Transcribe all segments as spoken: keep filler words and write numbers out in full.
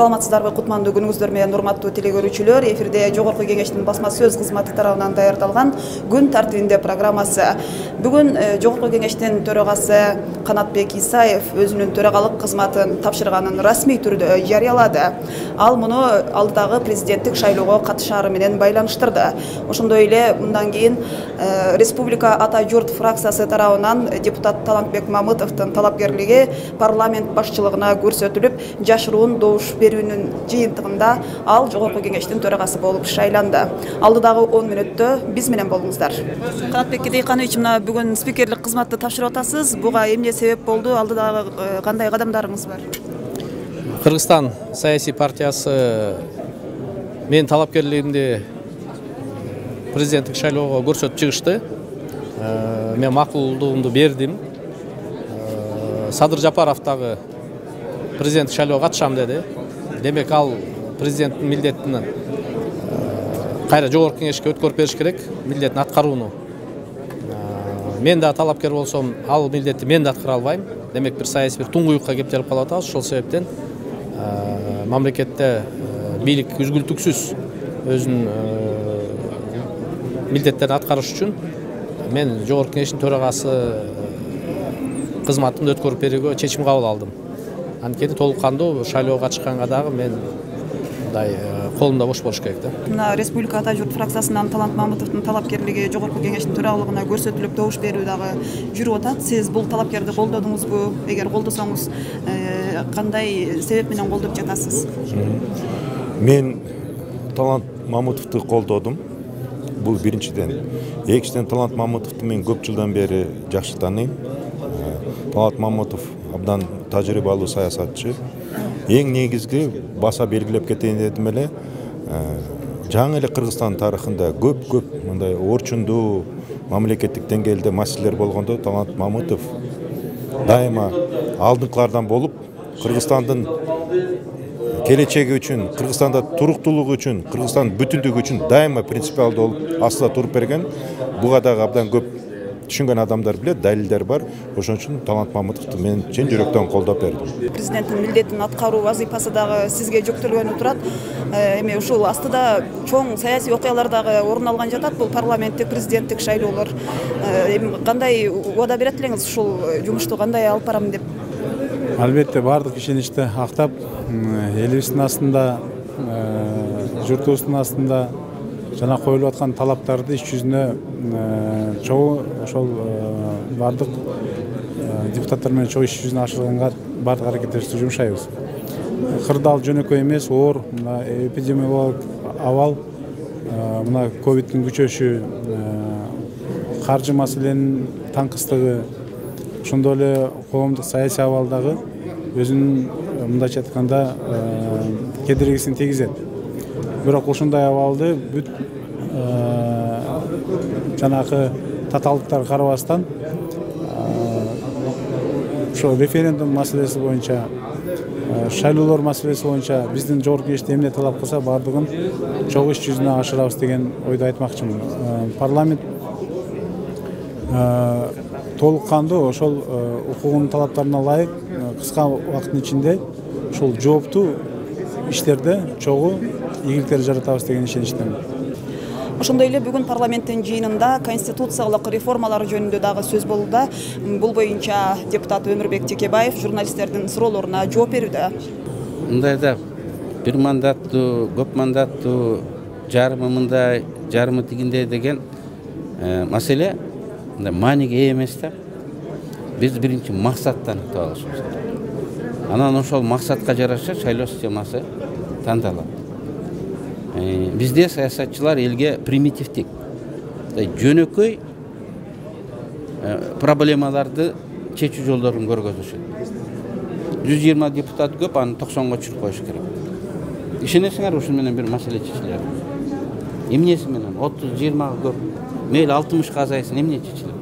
Саламатсыздарбы, кутмандуу күнүңүздөр менен урматтуу телекөрүүчүлөр. Эфирде Жогорку Кеңештин басма сөз кызматы тарабынан даярдалган күн тартибинде программасы. Бүгүн Жогорку Кеңештин төрагасы Канатбек Исаев өзүнүн төрагалык кызматын тапшырганын расмий түрдө жарыялады. Ал муну алдыдагы президенттик шайлоого катышаары менен байланыштырды. Ошондой эле мындан кийин Республика Ата журт фракциясы тарабынан депутат Талантбек Мамытовдун талапкерлиги парламент башчылыгына көрсөтүлүп, жашыруун добуш берүүнүн жыйынтыгында ал Жогорку Кеңештин төрагасы болуп шайланды. Алдыдагы он мүнөттө биз менен болуңуздар. Канатбек Кедейканович, мына бүгүн спикерлик кызматты тапшырып атасыз. Буга эмне себеп болду? Алдыдагы кандай кадамдарыңыз бар? Кыргызстан саясий партиясы мен талапкерлигимди президенттик шайлоого көрсөтүп чыгышты. Мен макулдугумду бердим. Садыр Жапаров дагы президенттик шайлоого катышам деди. Демек ал президенттин милдетин кайра Жогорку Кеңешке өткөрүп бериш керек, милдетин аткарууну. Мен да талапкер болсом, ал милдетти мен да аткара албайм. Демек бир саясий бир туңгуюкка кептелип калып атабыз. Ошол себептен мамлекетте бийлик үзгүлтүксүз өзүнүн милдеттерин аткарыш үчүн мен Жогорку Кеңештин төрагасы кызматымды өткөрүп берүүгө чечим кабыл алдым. Анткени толук кандуу шайлоого катышканга дагы мен мындай колумда бош болуш керек да. Мына Республика Ата журт фракциясынан Талант Мамытовдун талапкерлиги Жогорку Кеңештин төрагалыгына көрсөтүлүп, добуш берүү дагы жүрүп атат. Сиз бул талапкерди колдодуңузбу? Эгер колдосоңуз, кандай себеп менен колдоп жатасыз? Мен Талант Мамытовду колдодум. Бул биринчиден. Экинчиден, Талант Мамытовду мен көп жылдан бери жакшы тааныйм. Талант Мамытов абдан тажрыйбалуу саясатчы. Эң негизги баса белгилеп кетейин дедим эле, жаңы эле Кыргызстан тарыхында көп-көп мындай орчундуу мамлекеттик деңгээлде маселелер болгондо Талант Мамытов дайыма алдыңкылардан болуп, Кыргызстандын келечеги үчүн, Кыргызстанда туруктуулугу үчүн, Кыргызстандын бүтүндүгү үчүн дайыма принципиалдуу болуп астында туруп берген. Буга дагы абдан көп түшүнгөн адамдар билет, далилдер бар. Ошон үчүн Талант Мамытовду мен чын жүрөктөн колдоп бердим. Президенттин милдетин аткаруу вазыйфасы дагы сизге жүктөлгөнү турат. Эми ушул астыда чоң саясий окуялар дагы орун алган жатат. Бул парламенттик, президенттик шайлоолор. Эми кандай убада берет элеңиз ушул жумушту кандай алып барам деп? Албетте, бардык ишеничти актап, элибиздин астында, журтубуздун астында жана коюлуп аткан талаптарды иш жүзүнө чогуу ошол бардык депутаттар менен чогуу иш жүзүнө ашырганга бардык аракеттерибизди жумшайбыз. Кырдаал жөнөкөй эмес, оор мына эпидемиологик абал, мына ковидтин күчөшү, каржы маселенин таңкыстыгы, ошондой эле коомдук саясий абалдагы өзүнүн мындайча айтканда кедергисин тийгизет. Бирок ушундай абалды бүт жанагы татаалдыктарга карабастан ошо референдум маселеси боюнча, шайлоолор маселеси боюнча биздин Жогорку Кеңеште эмне талап кылса, бардыгын чогуу иш жүзүнө ашырабыз деген ойду айтмакчымын. Парламент толук кандуу ошол укугунун талаптарына ылайык кыска убакыттын ичинде ушул жооптуу иштерде чогуу ийгиликтер жаратабыз деген ишеничтемин. Ошондой эле бүгүн парламенттин жыйынында конституциялык реформалар жөнүндө дагы сөз болууда. Бул боюнча депутат Өмүрбек Текебаев журналисттердин суроолоруна жооп берүүдө. Мындайда бир мандаттуу, көп мандаттуу, жарымы мындай, жарымы тигиндей деген маселе мааниге ээ эмес да. Биз биринчи максатты аныктап алышыбыз керек. Анан ошол максатка жараша шайлоо системасы тандалат. Бизде саясатчылар элге примитивдик, жөнөкөй проблемаларды чечүү жолдорун көргөзүшөт. жүз жыйырма депутат көп, аны токсонго чүрүп коюш керек. Ишенесиңер, ушун менен бир маселе чечилет. Эмнеси менен отуз жыйырма көп, мейли алтымышка азайсын, эмне чечилет?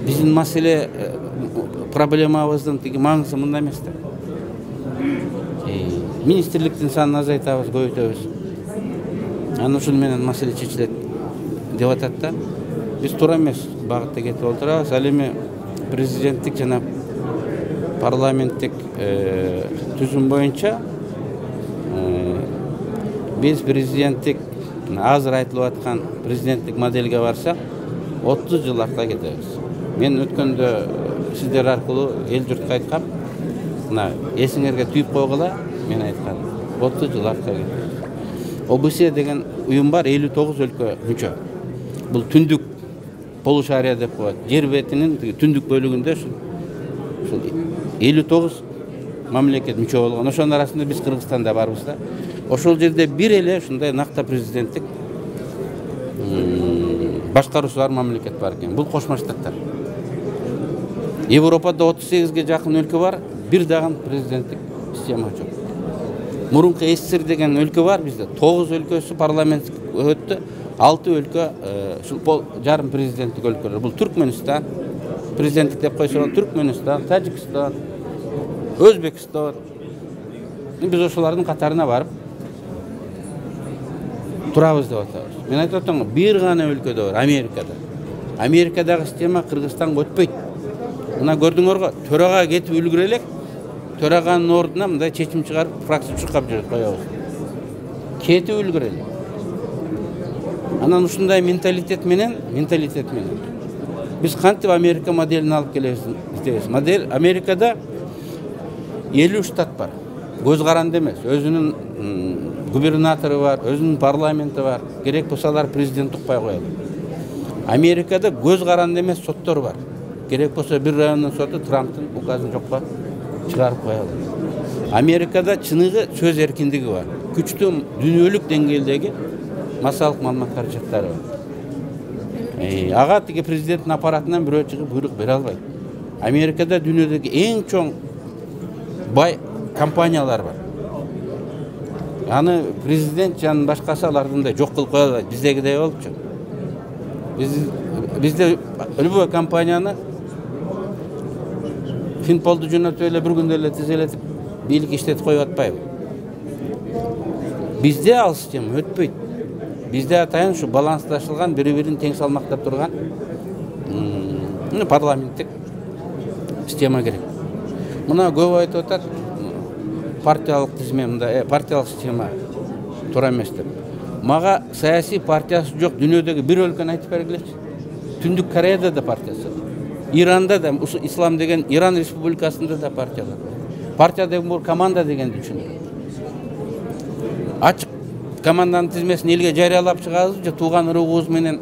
Биздин маселе проблемабыздын тиги маңызы мында эмес да. Министрликтин санын азайтабыз, көбөйтөбүз. Анан ушун менен маселе чечилет деп атат да. Биз туура эмес багытта кетип отурабыз. Ал эми президенттик жана парламенттик түзүм боюнча биз президенттик азыр айтылып аткан президенттик модельге барсак отуз жыл артка кетебиз. Мен өткөндө сиздер аркылуу эл журтка айткам, мына эсиңерге түйүп койгула, мен айткам, отуз жыл артка кетебиз. о бэ се деген уюм бар, элүү тогуз өлкө мүчө. Бул түндүк полушария деп коет. Жер бетинин түндүк бөлүгүндө ушул элүү тогуз мамлекет мүчө болгон. Ошонун арасында биз Кыргызстанда барбыз да. Ошол жерде бир эле ушундай накта президенттик башкаруусу бар мамлекет бар экен. Бул Кошмо Штаттар. Европада отуз сегизге жакын өлкө бар, бир дагы президенттик система жок. Мурунку эс эс эс эр деген өлкө бар бизде. тогуз өлкөсү парламент өттү, алты өлкө ушул жарым президенттик өлкөлөр. Бул Түркмөнстан, президенттик деп койсо, Түркмөнстан, Тажикстан, Өзбекстан. Биз ошолордун катарына барып турабыз деп атабыз. Мен айтып атам, бир гана өлкөдө бар, Америкада. Америкадагы система Кыргызстанга өтпөйт. Мына көрдүңөргө, төрага кетип үлгүрө элек, төраганын ордуна мындай чечим чыгарып, фракция чуркап жүрөт, коебуз. Кетип үлгүрө элек. Анан ушундай менталитет менен, менталитет менен биз кантип Америка моделин алып келебиз дейбиз. Модель Америкада элүү штат бар. Көз каранды эмес, өзүнүн губернатору бар, өзүнүн парламенти бар. Керек болсо алар президент укпай коет. Америкада көз каранды эмес соттор бар. Керек болсо бир райондун соту Трамптын указын жокко чыгарып коет. Америкада чыныгы сөз эркиндиги бар. Күчтүү дүйнөлүк деңгээлдеги массалык маалымат каражаттары бар. Ага тиги президенттин аппаратынан бирөө чыгып буйрук бере албайт. Америкада дүйнөдөгү эң чоң бай компаниялар бар. Аны президент жана башкасы алардындай жок кылып кое албайт. Биздегидей болупчу. Биз бизде любой компанияны Финполду жөнөтүп эле бир күндө эле тизелетип бийлик иштетип коюп атпайбы? Бизде ал система өтпөйт. Бизде атайын ушу балансташылган, бири-бирин тең салмактап турган парламенттик система керек. Мына көп айтып атат, партиялык тизме, мындай партиялык система туура эмес деп. Мага саясий партиясы жок дүйнөдөгү бир өлкөнү айтып бергилечи. Түндүк Кореяда да партиясы. Иранда да, ислам деген Иран республикасында да партиялар. Партия деген бул команда дегенди түшүнүп. Ачык команданын тизмесин элге жарыялап чыгабыз же тууган уругубуз менен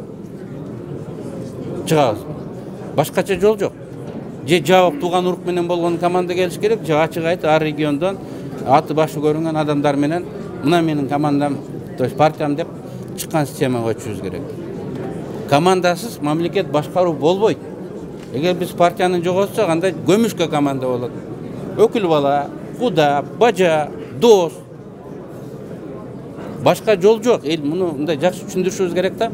чыгабыз. Башкача жол жок. Же жабык тууган урук менен болгон команда келиш керек, же ачык айтып ар региондон аты башы көрүнгөн адамдар менен мына менин командам, то есть партиям деп чыккан системага көчүбүз керек. Командасыз мамлекет башкаруу болбойт. Эгер биз партияны жоготсок, анда көмүшкө команда болот. Өкүл бала, куда, бажа, дос. Башка жол жок. Эл муну мындай жакшы түшүндүрүшүбүз керек да.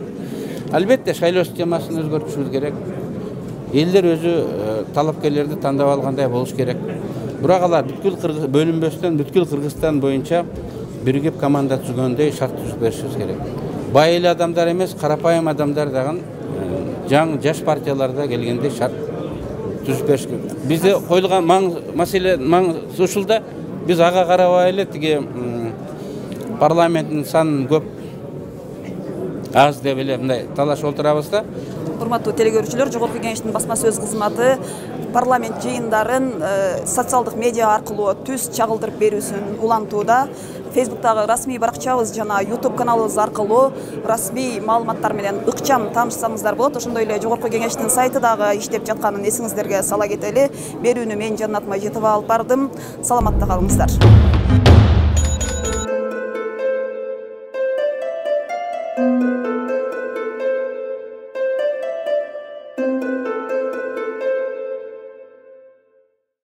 Албетте шайлоо системасын өзгөртүшүбүз керек. Элдер өзү талапкерлерди тандап алгандай болуш керек. Бирок алар бүткүл бөлүнбөстөн бүткүл Кыргызстан боюнча биригип команда түзгөндөй шарт түзүп беришибиз керек. Бай эле адамдар эмес, карапайым адамдар дагы жаңы жаш партияларда келгенде шарт түзүп бериш керек. Бизде коюлган маселе ушул да, биз ага карабай эле тиги парламенттин санын көп аз деп эле мындай талашып отурабыз да. Урматтуу телекөрүүчүлөр, Жогорку Кеңештин басма сөз кызматы парламент жыйындарын социалдык медиа аркылуу түз чагылдырып берүүсүн улантууда. Фейсбуктагы расмий баракчабыз жана YouTube каналыбыз аркылуу расмий маалыматтар менен ыкчам таанышсаңыздар болот. Ошондой эле Жогорку Кеңештин сайты дагы иштеп жатканын эсиңиздерге сала кетели. Берүүнү мен Жаннат Мажитова алып бардым. Саламатта калыңыздар.